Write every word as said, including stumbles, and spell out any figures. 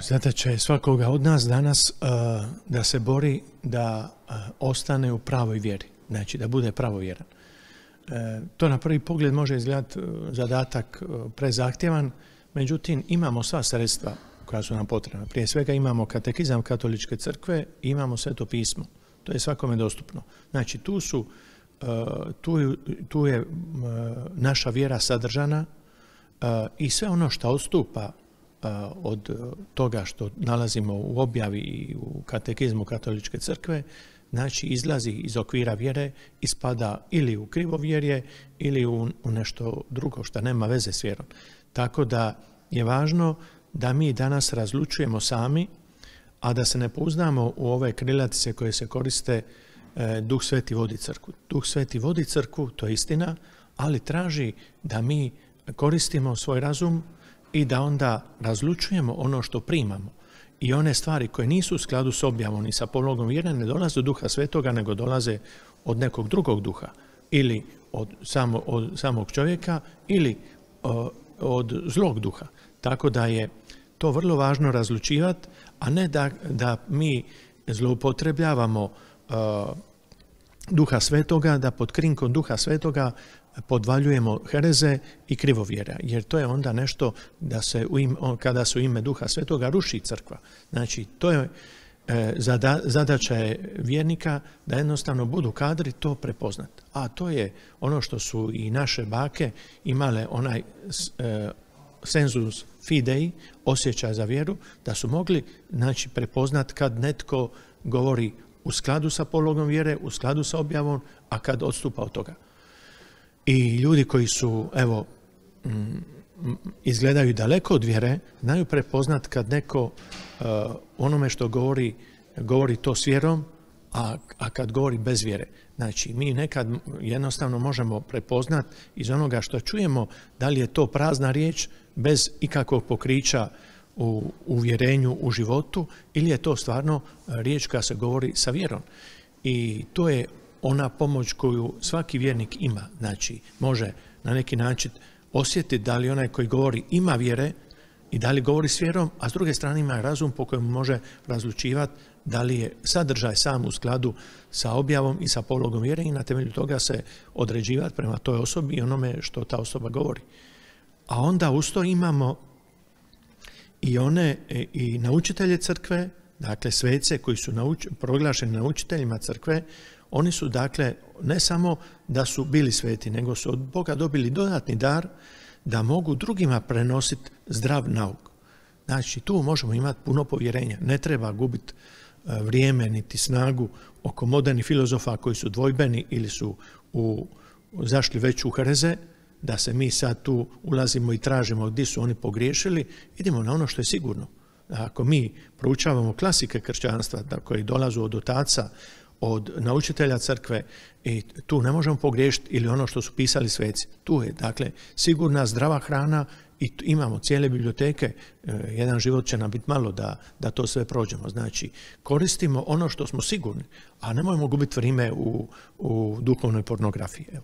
Zadaća je svakoga od nas danas uh, da se bori da uh, ostane u pravoj vjeri, znači da bude pravovjeran. Uh, to na prvi pogled može izgledati uh, zadatak uh, prezahtjevan, međutim imamo sva sredstva koja su nam potrebna. Prije svega imamo katekizam katoličke crkve i imamo sveto pismo. To je svakome dostupno. Znači tu su, uh, tu, tu je uh, naša vjera sadržana uh, i sve ono što odstupa od toga što nalazimo u objavi i u katekizmu katoličke crkve, znači izlazi iz okvira vjere i spada ili u krivovjerje ili u, u nešto drugo što nema veze s vjerom. Tako da je važno da mi danas razlučujemo sami, a da se ne pouzdamo u ove krilatice koje se koriste e, Duh Sveti vodi crkvu. Duh Sveti vodi crkvu, to je istina, ali traži da mi koristimo svoj razum i da onda razlučujemo ono što primamo. I one stvari koje nisu u skladu s objavom i sa pologom vjere ne dolaze od Duha Svetoga, nego dolaze od nekog drugog duha. Ili od, samo, od samog čovjeka, ili o, od zlog duha. Tako da je to vrlo važno razlučivati, a ne da, da mi zloupotrebljavamo o, Duha Svetoga, da pod krinkom Duha Svetoga podvaljujemo hereze i krivovjera, jer to je onda nešto da se u ime, kada se u ime Duha Svetoga ruši crkva. Znači, to je e, zada, zadaća je vjernika da jednostavno budu kadri to prepoznati. A to je ono što su i naše bake imale onaj e, sensus fidei, osjećaj za vjeru, da su mogli znači, prepoznati kad netko govori u skladu sa pologom vjere, u skladu sa objavom, a kad odstupa od toga. I ljudi koji su, evo, izgledaju daleko od vjere, znaju prepoznat kad neko uh, onome što govori, govori to s vjerom, a, a kad govori bez vjere. Znači, mi nekad jednostavno možemo prepoznat iz onoga što čujemo da li je to prazna riječ bez ikakvog pokrića u uvjerenju, u životu, ili je to stvarno riječ koja se govori sa vjerom. I to je ona pomoć koju svaki vjernik ima, znači može na neki način osjetiti da li onaj koji govori ima vjere i da li govori s vjerom, a s druge strane ima razum po kojem može razlučivati da li je sadržaj sam u skladu sa objavom i sa pologom vjere i na temelju toga se određivati prema toj osobi i onome što ta osoba govori. A onda uz to imamo i one i naučitelje crkve, dakle svece koji su nauč, proglašeni naučiteljima crkve. Oni su dakle ne samo da su bili sveti, nego su od Boga dobili dodatni dar da mogu drugima prenositi zdrav nauk. Znači tu možemo imati puno povjerenja. Ne treba gubiti vrijeme niti snagu oko modernih filozofa koji su dvojbeni ili su u, zašli već u hereze, da se mi sad tu ulazimo i tražimo gdje su oni pogriješili. Idemo na ono što je sigurno. Ako mi proučavamo klasike kršćanstva koji dolazu od otaca, od naučitelja crkve, i tu ne možemo pogriješiti, ili ono što su pisali sveci. Tu je, dakle, sigurna zdrava hrana i imamo cijele biblioteke. Jedan život će nam biti malo da, da to sve prođemo. Znači, koristimo ono što smo sigurni, a nemojmo gubiti vrijeme u, u duhovnoj pornografiji. Evo.